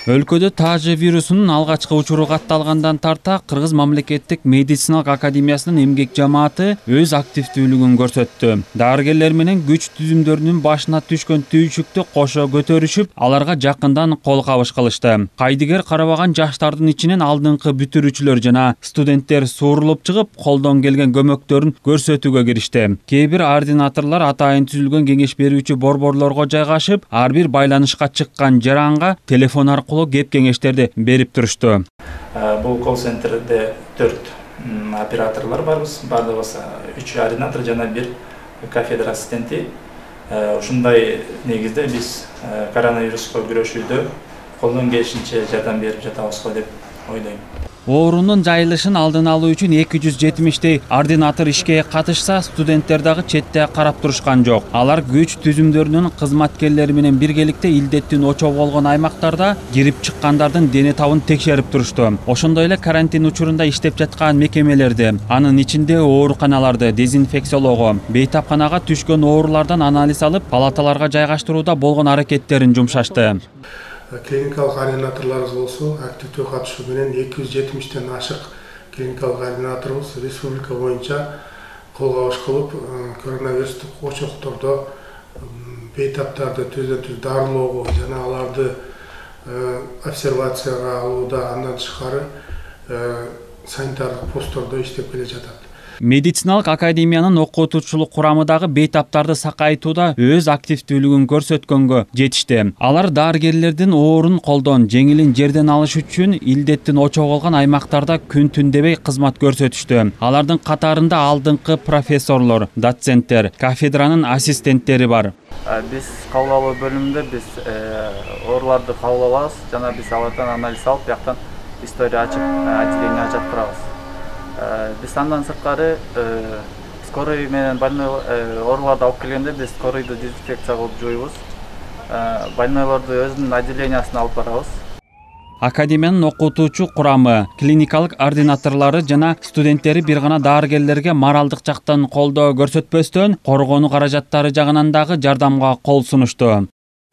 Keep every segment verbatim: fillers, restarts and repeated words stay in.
Өлкөдө тажы вирусунун алгачкы учуру катталгандан тарта Кыргыз мамлекеттик медициналык академиясынын эмгек жамааты өз активдүүлүгүн көрсөттү. Дарыгерлер менен күч түзүмдөрүнүн башына түшкөн түйшүктү кошо көтөрүшүп, аларга жакындан кол кабыш кылышты. Кайдыгер карабаган жаштардын ичинен алдыңкы бүтүрүүчүлөр жана студенттер суурулуп чыгып, колдон келген көмөктөрүн көрсөтүүгө киришти. Кээ бир ординаторлор атайын түзүлгөн кеңеш берүүчү борборлорго жайгашып, ар бир байланышка чыккан жаранга телефон аркылуу кеп кеңештерди берип турушту. Бул колл-центрде төрт операторлор барбыз. Бардыгыбыз үч ординатор жана бир кафедра ассистенти. Ушундай негизде биз коронавируска күрөшүүдө колдон келишинче жардам берип жатабызго деп ойлойм. Оорунун жайылышын алдын алуу үчүн эки жүз жетимиштей ординатор ишке катышса, студенттер дагы четте карап турушкан жок. Алар күч түзүмдөрүнүн кызматкерлери менен биргеликте илдеттин очогу болгон аймактарда кирип чыккандардын дене табын текшерип турушту. Ошондой эле карантин учурунда иштеп жаткан мекемелерди, анын ичинде ооруканаларды дезинфекциялоого, бейтапканага түшкөн оорулардан анализ алып, палаталарга жайгаштырууда болгон аракеттерин жумшашты. Клиникалык ординаторлорубуз болсо активдүү катышуу менен эки жүз жетимиштен ашык клиникалык ординаторубуз республика боюнча кол кабыш кылып, коронавирустук очоктордо бейтаптарды түздөн түз дарылоого жана аларды обсервацияга алууда, андан тышкары санитардык посттордо иштеп келе жатат. Медициналык академиянын окутуучулук курамы дагы бейтаптарды сакайтууда өз активдүүлүгүн көрсөткөнгө жетишти. Алар дарыгерлердин оорун колдон, жеңилин жерден алыш үчүн илдеттин очогу болгон аймактарда күн түн дебей кызмат көрсөтүштү. Алардын катарында алдыңкы профессорлор, доценттер, кафедранын ассистенттери бар. Биз кабыл алуу бөлүмүндө биз ооруларды кабыл алабыз жана биз алардан анализ алып, бияктан история ачып, отделение ачып турабыз. Биз андан сырткары скорый менен больной ооруларды алып келгенде биз скорыйду дезинфекция кылып жууйбуз. Больнойлорду өзүнүн отделениясына алып барабыз. Академиянын окутуучу курамы, клиникалык ординаторлору жана студенттери бир гана дарыгерлерге моралдык жактан колдоо көрсөтпөстөн, коргонуу каражаттары жагынан дагы жардамга кол сунушту.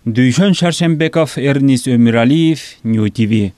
Дүйшөн Шаршембеков, Эрнис Өмүралиев, Нью ти ви.